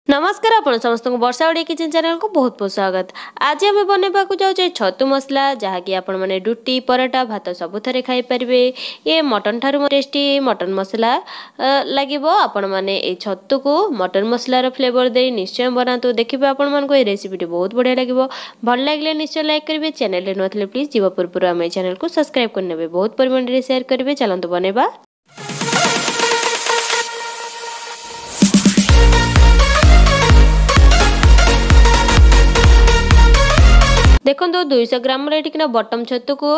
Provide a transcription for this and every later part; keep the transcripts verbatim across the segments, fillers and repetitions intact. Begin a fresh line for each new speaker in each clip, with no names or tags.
ନମସ୍କାର, ଆପଣ ସମସ୍ତଙ୍କୁ ବର୍ଷା ଓଡ଼ିଆ କିଚେନ୍ ଚ୍ୟାନେଲକୁ ବହୁତ ବହୁତ ସ୍ୱାଗତ। ଆଜି ଆମେ ବନେଇବାକୁ ଯାଉଛେ ଛତୁ ମସଲା, ଯାହାକି ଆପଣମାନେ ରୁଟି, ପରଟା, ଭାତ ସବୁଥିରେ ଖାଇପାରିବେ। ଇଏ ମଟନ୍ ଠାରୁ ଟେଷ୍ଟି ମଟନ୍ ମସଲା ଲାଗିବ। ଆପଣମାନେ ଏଇ ଛତୁକୁ ମଟନ୍ ମସଲାର ଫ୍ଲେଭର ଦେଇ ନିଶ୍ଚୟ ବନାନ୍ତୁ, ଦେଖିବେ ଆପଣମାନଙ୍କୁ ଏହି ରେସିପିଟି ବହୁତ ବଢ଼ିଆ ଲାଗିବ। ଭଲ ଲାଗିଲେ ନିଶ୍ଚୟ ଲାଇକ୍ କରିବେ। ଚ୍ୟାନେଲରେ ନୂଆ ଥିଲେ ପ୍ଲିଜ୍ ଯିବା ପୂର୍ବରୁ ଆମ ଏଇ ଚ୍ୟାନେଲକୁ ସବସ୍କ୍ରାଇବ୍ କରିନେବେ, ବହୁତ ପରିମାଣରେ ସେୟାର କରିବେ। ଚାଲନ୍ତୁ ବନେଇବା। ଦେଖନ୍ତୁ, ଦୁଇଶହ ଗ୍ରାମର ଏଠିକିନା ବଟମ୍ ଛତୁକୁ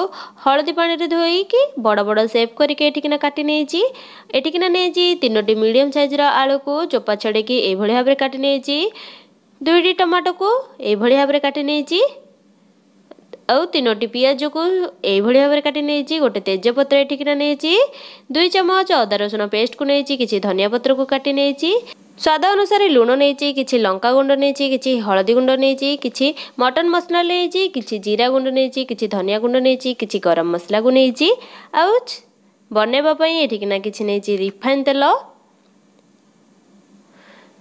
ହଳଦୀ ପାଣିରେ ଧୋଇକି ବଡ଼ ବଡ଼ ସେପ୍ କରିକି ଏଠିକିନା କାଟି ନେଇଛି। ଏଠିକିନା ନେଇଛି ତିନୋଟି ମିଡ଼ିୟମ୍ ସାଇଜ୍ର ଆଳୁକୁ ଚୋପା ଛଡ଼େଇକି ଏଇଭଳି ଭାବରେ କାଟି ନେଇଛି। ଦୁଇଟି ଟମାଟୋକୁ ଏଇଭଳି ଭାବରେ କାଟି ନେଇଛି ଆଉ ତିନୋଟି ପିଆଜକୁ ଏଇଭଳି ଭାବରେ କାଟି ନେଇଛି। ଗୋଟେ ତେଜପତ୍ର ଏଠିକିନା ନେଇଛି, ଦୁଇ ଚାମଚ ଅଦା ରସୁଣ ପେଷ୍ଟକୁ ନେଇଛି, କିଛି ଧନିଆ ପତ୍ରକୁ କାଟି ନେଇଛି, ସ୍ୱାଦ ଅନୁସାରେ ଲୁଣ ନେଇଛି, କିଛି ଲଙ୍କା ଗୁଣ୍ଡ ନେଇଛି, କିଛି ହଳଦୀ ଗୁଣ୍ଡ ନେଇଛି, କିଛି ମଟନ୍ ମସଲା ନେଇଛି, କିଛି ଜିରା ଗୁଣ୍ଡ ନେଇଛି, କିଛି ଧନିଆ ଗୁଣ୍ଡ ନେଇଛି, କିଛି ଗରମ ମସଲାକୁ ନେଇଛି। ଆଉ ବନେଇବା ପାଇଁ ଏଠିକିନା କିଛି ନେଇଛି ରିଫାଇନ୍ ତେଲ।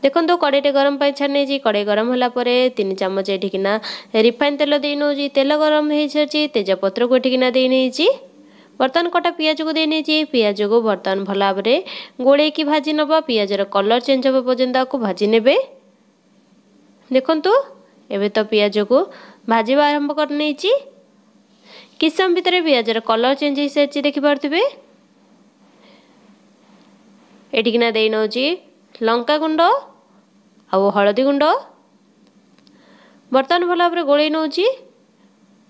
ଦେଖନ୍ତୁ, କଡ଼େଇଟେ ଗରମ ପାଇଁ ଛାଣି ନେଇଛି। କଡ଼େଇ ଗରମ ହେଲା ପରେ ତିନି ଚାମଚ ଏଠିକିନା ରିଫାଇନ୍ ତେଲ ଦେଇ ନେଉଛି। ତେଲ ଗରମ ହେଇସାରିଛି, ତେଜପତ୍ରକୁ ଏଠିକିନା ଦେଇ ନେଇଛି। ବର୍ତ୍ତମାନ କଟା ପିଆଜକୁ ଦେଇ ନେଇଛି। ପିଆଜକୁ ବର୍ତ୍ତମାନ ଭଲ ଭାବରେ ଗୋଳେଇକି ଭାଜି ନେବା। ପିଆଜର କଲର୍ ଚେଞ୍ଜ ହେବା ପର୍ଯ୍ୟନ୍ତ ଆକୁ ଭାଜି ନେବେ। ଦେଖନ୍ତୁ, ଏବେ ତ ପିଆଜକୁ ଭାଜିବା ଆରମ୍ଭ କରିନେଇଛି। କିଛି ସମୟ ଭିତରେ ପିଆଜର କଲର୍ ଚେଞ୍ଜ ହେଇସାରିଛି, ଦେଖିପାରୁଥିବେ। ଏଠିକିନା ଦେଇ ନେଉଛି ଲଙ୍କା ଗୁଣ୍ଡ ଆଉ ହଳଦୀ ଗୁଣ୍ଡ। ବର୍ତ୍ତମାନ ଭଲ ଭାବରେ ଗୋଳେଇ ନେଉଛି।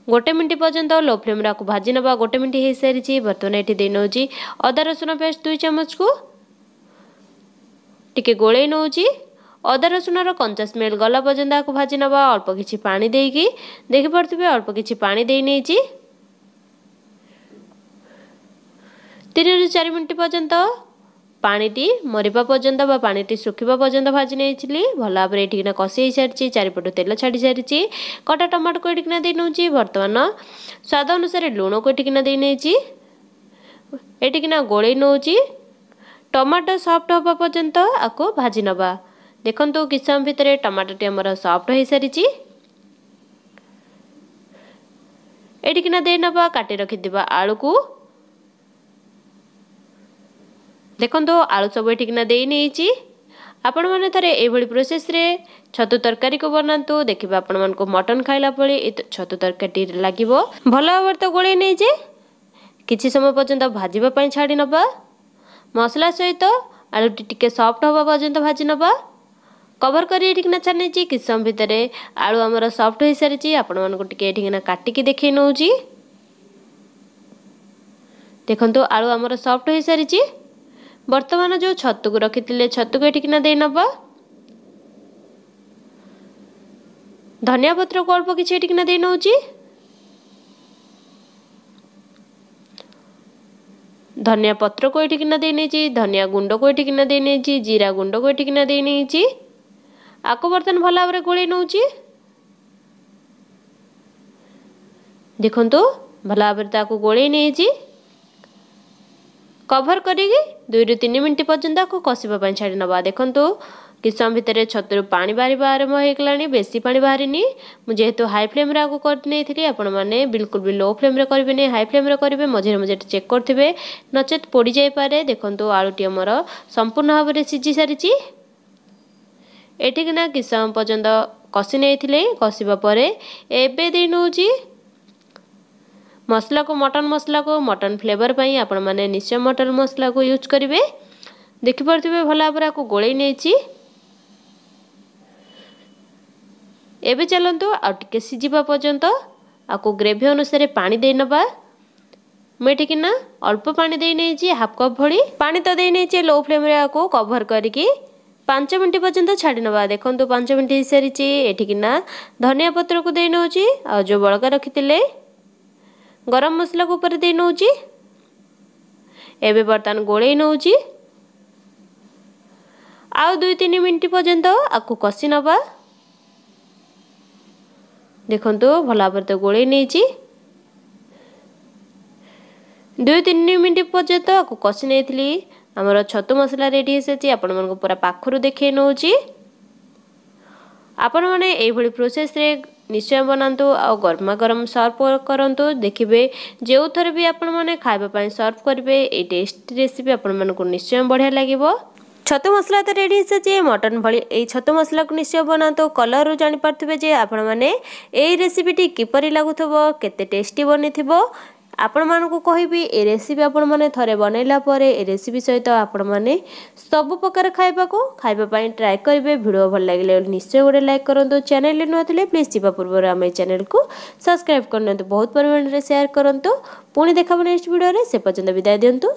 ଗୋଟେ ମିନିଟ୍ ପର୍ଯ୍ୟନ୍ତ ଲୋ ଫ୍ଲେମ୍ରେ ଆକୁ ଭାଜି ନେବା। ଗୋଟେ ମିନିଟ୍ ହେଇସାରିଛି। ବର୍ତ୍ତମାନ ଏଠି ଦେଇ ନେଉଛି ଅଦା ରସୁଣ ପେଷ୍ଟ ଦୁଇ ଚାମଚକୁ, ଟିକେ ଗୋଳେଇ ନେଉଛି। ଅଦା ରସୁଣର କଞ୍ଚା ସ୍ମେଲ୍ ଗଲା ପର୍ଯ୍ୟନ୍ତ ଆକୁ ଭାଜି ନେବା ଅଳ୍ପ କିଛି ପାଣି ଦେଇକି। ଦେଖିପାରୁଥିବେ, ଅଳ୍ପ କିଛି ପାଣି ଦେଇ ନେଇଛି। ତିନିରୁ ଚାରି ମିନିଟ୍ ପର୍ଯ୍ୟନ୍ତ ପାଣିଟି ମରିବା ପର୍ଯ୍ୟନ୍ତ ବା ପାଣିଟି ଶୁଖିବା ପର୍ଯ୍ୟନ୍ତ ଭାଜି ନେଇଥିଲି। ଭଲ ଭାବରେ ଏଠିକିନା କଷି ହେଇସାରିଛି, ଚାରିପଟୁ ତେଲ ଛାଡ଼ି ସାରିଛି। କଟା ଟମାଟୋକୁ ଏଠିକିନା ଦେଇ ନେଉଛି। ବର୍ତ୍ତମାନ ସ୍ୱାଦ ଅନୁସାରେ ଲୁଣକୁ ଏଠିକିନା ଦେଇ ନେଇଛି। ଏଠିକିନା ଗୋଳେଇ ନେଉଛି। ଟମାଟୋ ସଫ୍ଟ ହେବା ପର୍ଯ୍ୟନ୍ତ ଆକୁ ଭାଜି ନେବା। ଦେଖନ୍ତୁ, କିଛି ସମୟ ଭିତରେ ଟମାଟୋଟି ଆମର ସଫ୍ଟ ହେଇସାରିଛି। ଏଠିକିନା ଦେଇ ନେବା କାଟି ରଖିଥିବା ଆଳୁକୁ। ଦେଖନ୍ତୁ, ଆଳୁ ସବୁ ଏଠିକିନା ଦେଇ ନେଇଛି। ଆପଣମାନେ ଥରେ ଏଇଭଳି ପ୍ରୋସେସ୍ରେ ଛତୁ ତରକାରୀକୁ ବନାନ୍ତୁ, ଦେଖିବେ ଆପଣମାନଙ୍କୁ ମଟନ୍ ଖାଇଲା ଭଳି ଏ ଛତୁ ତରକାରୀଟି ଲାଗିବ। ଭଲ ଭାବରେ ତ ଗୋଳେଇ ନେଇଛେ, କିଛି ସମୟ ପର୍ଯ୍ୟନ୍ତ ଭାଜିବା ପାଇଁ ଛାଡ଼ି ନେବା। ମସଲା ସହିତ ଆଳୁଟି ଟିକେ ସଫ୍ଟ ହେବା ପର୍ଯ୍ୟନ୍ତ ଭାଜି ନେବା। କଭର କରି ଏଠିକିନା ଛାଡ଼ି ନେଇଛି। କିଛି ସମୟ ଭିତରେ ଆଳୁ ଆମର ସଫ୍ଟ ହୋଇସାରିଛି। ଆପଣମାନଙ୍କୁ ଟିକେ ଏଠିକିନା କାଟିକି ଦେଖେଇ ନେଉଛି। ଦେଖନ୍ତୁ, ଆଳୁ ଆମର ସଫ୍ଟ ହୋଇସାରିଛି। ବର୍ତ୍ତମାନ ଯେଉଁ ଛତୁକୁ ରଖିଥିଲେ, ଛତୁକୁ ଏଠିକିନା ଦେଇ ନେବା। ଧନିଆ ପତ୍ରକୁ ଅଳ୍ପ କିଛି ଏଠିକିନା ଦେଇ ନେଉଛି। ଧନିଆ ପତ୍ରକୁ ଏଠିକିନା ଦେଇ ନେଇଛି, ଧନିଆ ଗୁଣ୍ଡକୁ ଏଠିକିନା ଦେଇ ନେଇଛି, ଜିରା ଗୁଣ୍ଡକୁ ଏଠିକିନା ଦେଇ ନେଇଛି। ଆକୁ ବର୍ତ୍ତମାନ ଭଲ ଭାବରେ ଗୋଳେଇ ନେଉଛି। ଦେଖନ୍ତୁ, ଭଲ ଭାବରେ ତାକୁ ଗୋଳେଇ ନେଇଛି। କଭର କରିକି ଦୁଇରୁ ତିନି ମିନିଟ୍ ପର୍ଯ୍ୟନ୍ତ ଆକୁ କଷିବା ପାଇଁ ଛାଡ଼ି ନେବା। ଦେଖନ୍ତୁ, କିଛି ସମୟ ଭିତରେ ଛତୁରୁ ପାଣି ବାହାରିବା ଆରମ୍ଭ ହେଇଗଲାଣି। ବେଶୀ ପାଣି ବାହାରିନି, ମୁଁ ଯେହେତୁ ହାଇ ଫ୍ଲେମ୍ରେ ଆକୁ କରି ନେଇଥିଲି। ଆପଣମାନେ ବିଲକୁଲ ବି ଲୋ ଫ୍ଲେମ୍ରେ କରିବେନି, ହାଇ ଫ୍ଲେମ୍ରେ କରିବେ। ମଝିରେ ମଝିରେ ଚେକ୍ କରୁଥିବେ, ନଚେତ୍ ପୋଡ଼ି ଯାଇପାରେ। ଦେଖନ୍ତୁ, ଆଳୁଟି ଆମର ସମ୍ପୂର୍ଣ୍ଣ ଭାବରେ ସିଝି ସାରିଛି। ଏଠିକିନା କିଛି ସମୟ ପର୍ଯ୍ୟନ୍ତ କଷି ନେଇଥିଲେ। କଷିବା ପରେ ଏବେ ଦେଇ ନେଉଛି ମସଲାକୁ, ମଟନ୍ ମସଲାକୁ। ମଟନ୍ ଫ୍ଲେଭର ପାଇଁ ଆପଣମାନେ ନିଶ୍ଚୟ ମଟନ୍ ମସଲାକୁ ୟୁଜ୍ କରିବେ। ଦେଖିପାରୁଥିବେ, ଭଲ ଭାବରେ ଆକୁ ଗୋଳେଇ ନେଇଛି। ଏବେ ଚାଲନ୍ତୁ ଆଉ ଟିକେ ସିଝିବା ପର୍ଯ୍ୟନ୍ତ ଆକୁ ଗ୍ରେଭି ଅନୁସାରେ ପାଣି ଦେଇ ନେବା। ମୁଁ ଏଠିକିନା ଅଳ୍ପ ପାଣି ଦେଇ ନେଇଛି, ହାଫ୍ କପ୍ ଭଳି ପାଣି ତ ଦେଇ ନେଇଛି। ଲୋ ଫ୍ଲେମ୍ରେ ଆକୁ କଭର କରିକି ପାଞ୍ଚ ମିନିଟ୍ ପର୍ଯ୍ୟନ୍ତ ଛାଡ଼ି ନେବା। ଦେଖନ୍ତୁ, ପାଞ୍ଚ ମିନିଟ୍ ହେଇସାରିଛି। ଏଠିକିନା ଧନିଆ ପତ୍ରକୁ ଦେଇ ନେଉଛି ଆଉ ଯେଉଁ ବଳକା ରଖିଥିଲେ ଗରମ ମସଲାକୁ ଉପରେ ଦେଇ ନେଉଛି। ଏବେ ବର୍ତ୍ତମାନ ଗୋଳେଇ ନେଉଛି। ଆଉ ଦୁଇ ତିନି ମିନିଟ୍ ପର୍ଯ୍ୟନ୍ତ ଆକୁ କଷି ନେବା। ଦେଖନ୍ତୁ, ଭଲ ଭାବରେ ତ ଗୋଳେଇ ନେଇଛି। ଦୁଇ ତିନି ମିନିଟ୍ ପର୍ଯ୍ୟନ୍ତ ଆକୁ କଷି ନେଇଥିଲି। ଆମର ଛତୁ ମସଲା ରେଡ଼ି ହେଇସାରିଛି। ଆପଣମାନଙ୍କୁ ପୁରା ପାଖରୁ ଦେଖେଇ ନେଉଛି। ଆପଣମାନେ ଏଇଭଳି ପ୍ରୋସେସ୍ରେ ନିଶ୍ଚୟ ବନାନ୍ତୁ ଆଉ ଗରମା ଗରମ ସର୍ଭ କରନ୍ତୁ। ଦେଖିବେ, ଯେଉଁଥରେ ବି ଆପଣମାନେ ଖାଇବା ପାଇଁ ସର୍ଭ କରିବେ, ଏଇ ଟେଷ୍ଟି ରେସିପି ଆପଣମାନଙ୍କୁ ନିଶ୍ଚୟ ବଢ଼ିଆ ଲାଗିବ। ଛତୁ ମସଲା ତ ରେଡ଼ି ହେଇସାରିଛି। ମଟନ୍ ଭଳି ଏଇ ଛତୁ ମସଲାକୁ ନିଶ୍ଚୟ ବନାନ୍ତୁ। କଲର୍ରୁ ଜାଣିପାରୁଥିବେ ଯେ ଆପଣମାନେ ଏଇ ରେସିପିଟି କିପରି ଲାଗୁଥିବ, କେତେ ଟେଷ୍ଟି ବନିଥିବ। ଆପଣମାନଙ୍କୁ କହିବି, ଏ ରେସିପି ଆପଣମାନେ ଥରେ ବନେଇଲା ପରେ ଏ ରେସିପି ସହିତ ଆପଣମାନେ ସବୁ ପ୍ରକାର ଖାଇବାକୁ ଖାଇବା ପାଇଁ ଟ୍ରାଏ କରିବେ। ଭିଡ଼ିଓ ଭଲ ଲାଗିଲେ ନିଶ୍ଚୟ ଗୋଟେ ଲାଇକ୍ କରନ୍ତୁ। ଚ୍ୟାନେଲରେ ନୂଆ ଥିଲେ ପ୍ଲିଜ୍ ଯିବା ପୂର୍ବରୁ ଆମ ଏ ଚ୍ୟାନେଲକୁ ସବସ୍କ୍ରାଇବ୍ କରିନିଅନ୍ତୁ। ବହୁତ ପରିମାଣରେ ସେୟାର କରନ୍ତୁ। ପୁଣି ଦେଖାବ ନେକ୍ସଟ ଭିଡ଼ିଓରେ, ସେ ପର୍ଯ୍ୟନ୍ତ ବିଦାୟ ଦିଅନ୍ତୁ।